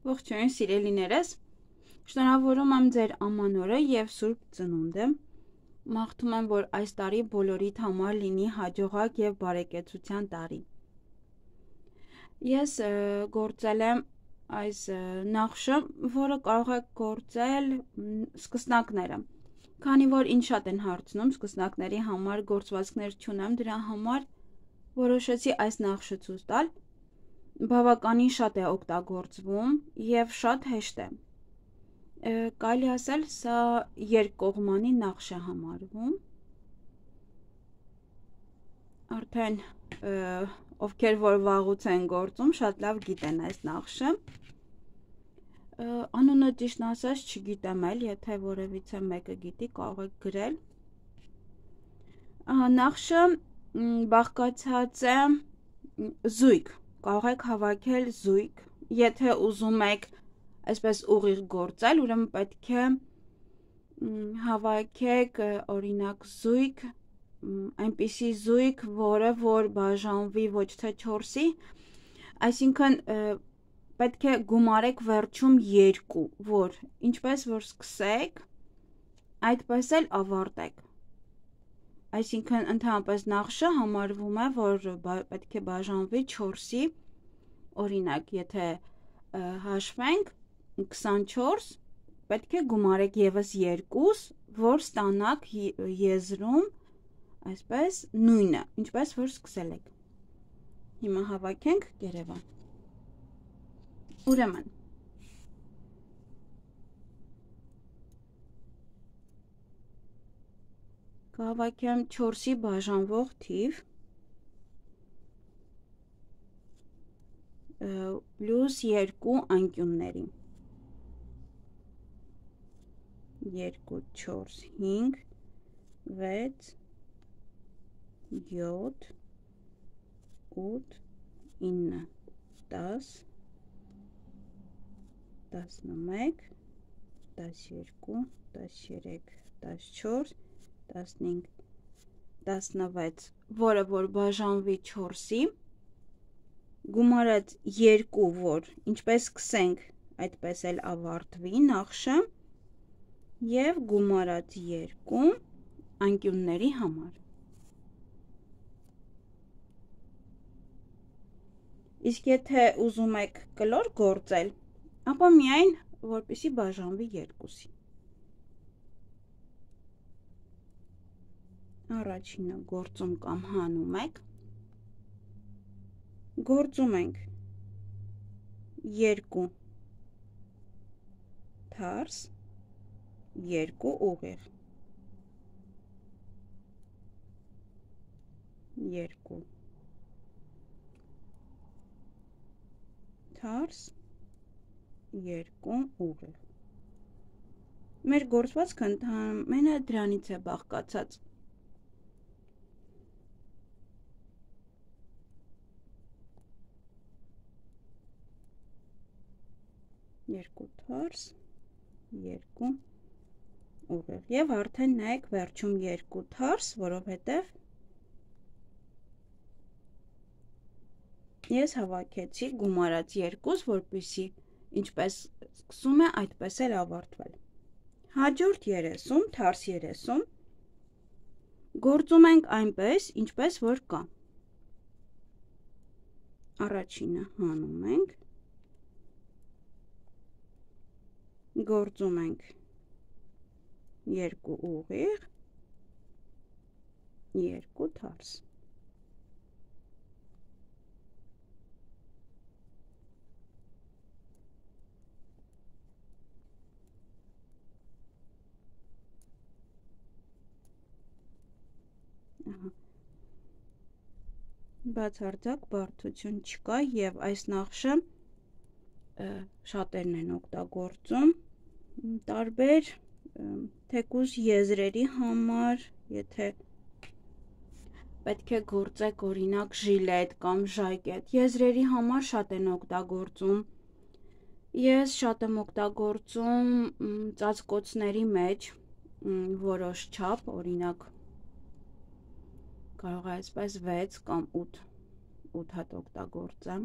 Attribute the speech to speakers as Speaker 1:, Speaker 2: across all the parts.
Speaker 1: Ողջույն սիրելիներս, շնորհավորում եմ ձեր ամանորը և սուրբ ծնունդը, մաղթում եմ, որ այս տարի բոլորիդ համար լինի հաջողակ և բարեկեցության տարի։ Ես գործել եմ այս նախշը, որը կարող եք գործել սկսնակները, քանի որ ինձ շատ են հարցնում սկսնակների համար գործվածքներ չունեմ, դրա համար որոշեցի այս նախշը ցույց տալ։ Բավականին շատ է օգտագործվում և շատ հեշտ է։ Կարելի ասել, սա երկկողմանի նախշ է համարվում։ Արդեն ովքեր որ վաղուց են գործում, շատ լավ գիտեն այս նախշը։ Անունը ճիշտն ասած չգիտեմ էլ, եթե որևիցե մեկը գիտի, կարող եք գրել։ Նախշը բաղկացած է զույգ, կարող եք հավաքել զույգ, եթե ուզում եք այսպես ուղիղ գործել, ուրեմն պետք է հավաքեք օրինակ զույգ, այնպիսի զույգ, որը որ բաժանվի ոչ թե 4-ի, այսինքն պետք է գումարեք վերջում 2, որ ինչպես որ սկսեք, այդպես էլ ավարտեք։ Այսինքն ընդհանրապես նախշը համարվում է, որ պետք է բաժանվի 4-ի, օրինակ, եթե հաշվենք 24, պետք է գումարեք եւս 2, որ ստանաք եզրում այսպես նույնը, ինչպես որ սկսել եք։ Հիմա հավաքենք Երևան։ Ուրեմն կհավաքեմ 4-ի բաժանվող թիվ պլյուս 2 անկյունների 2, 4, 5, 6, 7, 8, 9, 10, 11, 12, 13, 14, 15, 16, որը որ բաժանվի 4-ի, գումարած 2, որ ինչպես սկսենք, այդպես էլ ավարտվի նախշը, և գումարած 2 անկյունների համար։ Իսկ եթե ուզում եք կլոր գործել, ապա միայն որպեսի բաժանվի 2-ի։ Առաջինը գործում կամ հանում եք, գործում ենք 2 թարս, 2 ուղիղ, 2 թարս, 2 ուղիղ։ Մեր գործվածքը ընդամենը դրանից է բաղկացած։ Երկու թարս, 2 ուղիղ և արդեն նայեք վերջում 2 թարս, որովհետև ես հավաքեցի գումարած 2, որպեսզի ինչպես սկսում է, այդպես էլ ավարտվել։ Հաջորդ 30, թարս 30, գործում ենք այնպես, ինչպես որ կա։ Առաջինը հանում ենք, գործում ենք 2 ուղիղ, 2 թարս։ Բացարձակ բարդություն չկա և այս նախշը շատերն են օգտագործում տարբեր թեկուզ եզրերի համար, եթե պետք է գործեք օրինակ ժիլետ կամ ժակետ, եզրերի համար շատ են օգտագործում։ Ես շատ եմ օգտագործում ծածկոցների մեջ որոշ չափ, օրինակ կարող է այսպես 6 կամ 8 հատ օգտագործեմ։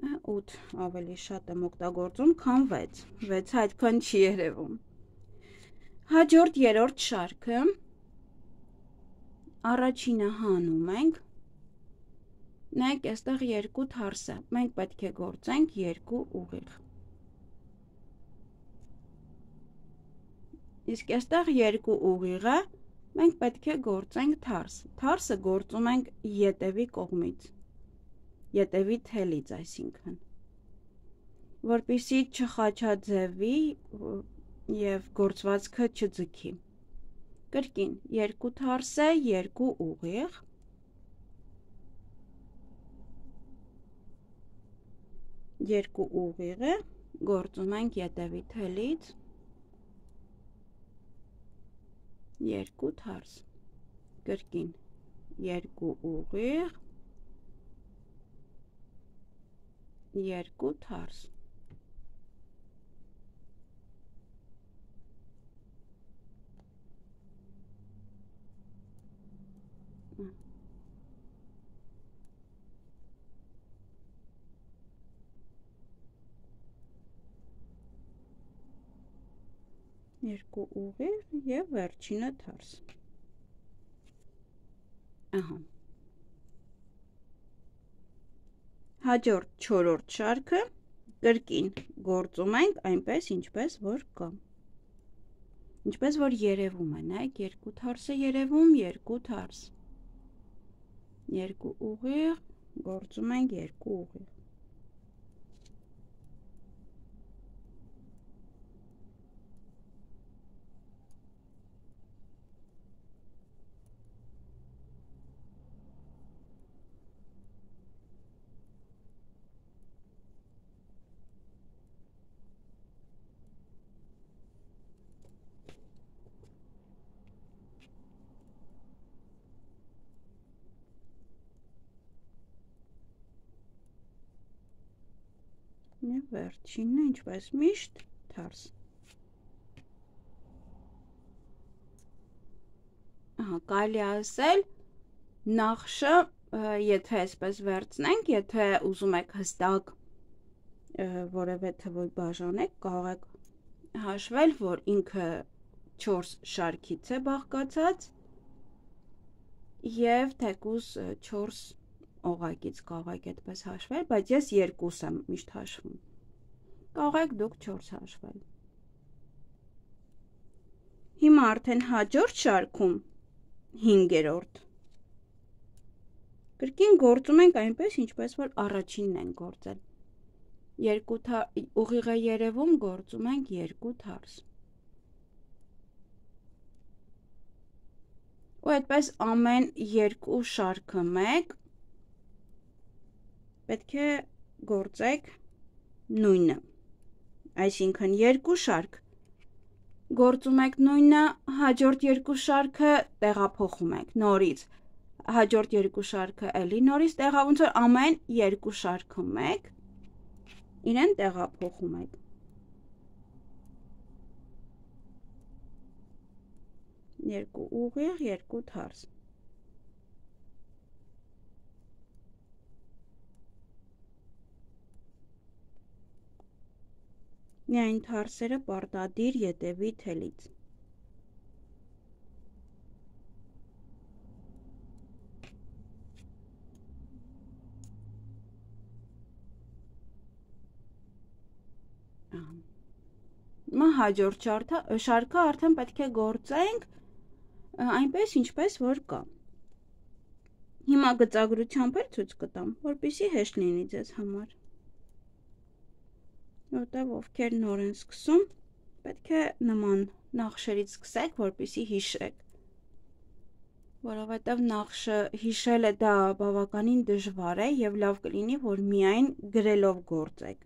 Speaker 1: 8 ավելի շատ եմ օգտագործում, քան 6, 6-ը այդքան չի երևում։ Հաջորդ երրորդ շարքը, առաջինը հանում ենք, նայեք այստեղ 2 թարս է, մենք պետք է գործենք 2 ուղիղ։ Իսկ այստեղ 2 ուղիղը, մենք պետք է գործենք թարս, թարսը գործում ենք ետևի կողմից, ետևի թելից այսինքն, որպեսզի չխաչաձևի և գործվածքը չձգի։ Կրկին 2 թարս է, 2 ուղիղ, երկու ուղիղը գործում ենք ետևի թելից, 2 թարս, կրկին 2 ուղիղ, 2 թարս։ Երկու ուղիղ և վերջինը թարս։ Ահա։ Հաջորդ չորրորդ շարքը կրկին գործում ենք այնպես, ինչպես որ կա։ Ինչպես որ երևում է, նայեք 2 թարս է երևում, 2 թարս։ 2 ուղիղ, գործում ենք 2 ուղիղ։ Եվ վերջինը, ինչպես միշտ, թարս։ Կարելի է ասել, նախշը, եթե այսպես վերցնենք, եթե ուզում եք հստակ որևէ թվով բաժանեք, կարող եք հաշվել, որ ինքը 4 շարքից է բաղկացած և թեկուզ 4 օղակից կարող եք այդպես հաշվել, բայց ես 2 եմ միշտ հաշվում։ Կարող եք դուք 4 հաշվել։ Հիմա արդեն հաջորդ շարքում 5-րդ։ Կրկին գործում ենք այնպես, ինչպես որ առաջինն ենք գործել։ 2 ուղիղ է երևում, գործում ենք 2 թարս։ Ու այդպես ամեն 2 շարքը մեկ պետք է գործեք նույնը, այսինքն 2 շարք գործում եք նույնը, հաջորդ 2 շարքը տեղափոխում եք նորից, հաջորդ 2 շարքը էլի նորից ոնց որ ամեն 2 շարքը մեկ իրեն տեղափոխում եք։ Երկու ուղիղ, 2 թարս։ Միայն թարսերը պարտադիր ետևի թելից։ Հիմա հաջորդ շարքը արդեն պետք է գործենք այնպես, ինչպես որ կա։ Հիմա գծագրությամբ էլ ցույց կտամ, որպեսզի հեշտ լինի ձեզ համար։ Որտեղ ովքեր նոր են սկսում, պետք է նման նախշերից սկսեք, որպեսզի հիշեք։ Որովհետև նախշը հիշելը դա բավականին դժվար է և լավ կլինի, որ միայն գրելով գործեք։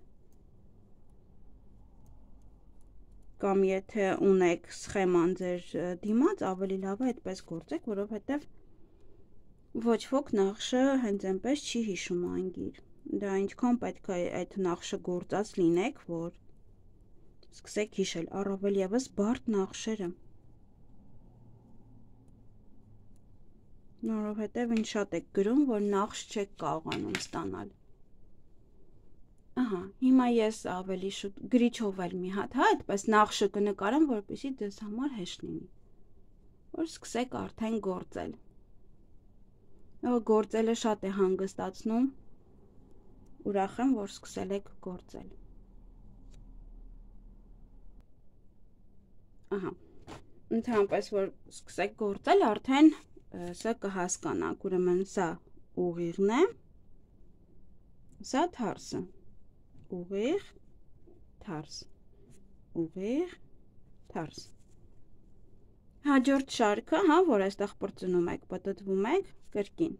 Speaker 1: Կամ եթե ունեք սխեման ձեր դիմաց, ավելի լավ է այդպես գործեք, որովհետև ոչ ոք նախշը հենց այնպես չի հիշում անգիր։ Դա ինչքան պետք է այդ նախշը գործած լինեք, որ սկսեք հիշել, առավել ևս բարդ նախշերը։ Որովհետև ինչ շատ եք գրում, որ նախշ չեք կարողանում ստանալ։ Ահա, հիմա ես ավելի շուտ գրիչով էլ մի հատ, հա, այդպես նախշը կնկարեմ, որպեսզի ձեզ համար հեշտ լինի։ Որ սկսեք արդեն գործել։ Գործելը շատ է հանգստացնում։ Ուրախ եմ, որ սկսել եք գործել։ Ահա, ընդհանրապես որ սկսեք գործել, արդեն սա կհասկանաք, ուրեմն սա ուղիղն է, սա թարսը, ուղիղ, թարս, ուղիղ, թարս։ Հաջորդ շարքը, հա, որ այստեղ պրծնում եք, պտտվում եք, կրկին։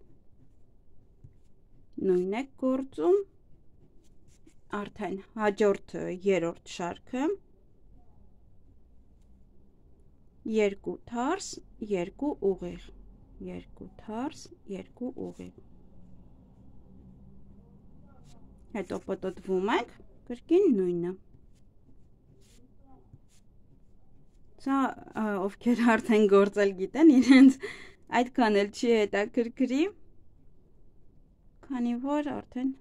Speaker 1: Նույնն եք գործում, արդեն հաջորդ երրորդ շարքը, երկու թարս, երկու ուղիղ, երկու թարս, երկու ուղիղ։ Հետո պտտվում եք, կրկին նույնը։ Սա ովքեր արդեն գործել գիտեն, իրենց այդքան էլ չի հետաքրքրի, քանի որ արդեն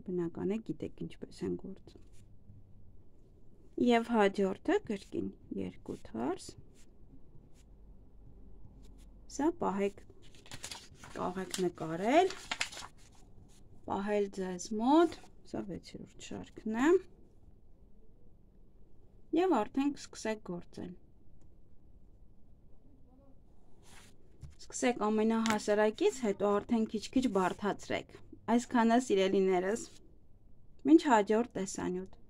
Speaker 1: բնական է գիտեք ինչպես են գործում։ Եվ հաջորդը կրկին երկու թարս։ Սա պահեք, կարող նկարել, պահել ձեզ մոտ, սա 6-րդ շարքն է, և արդեն սկսեք գործել։ Սկսեք ամենահասարակից, հետո արդեն քիչ-քիչ բարդացրեք։ Այսքանը սիրելիներս, մինչ հաջորդ տեսանյութ։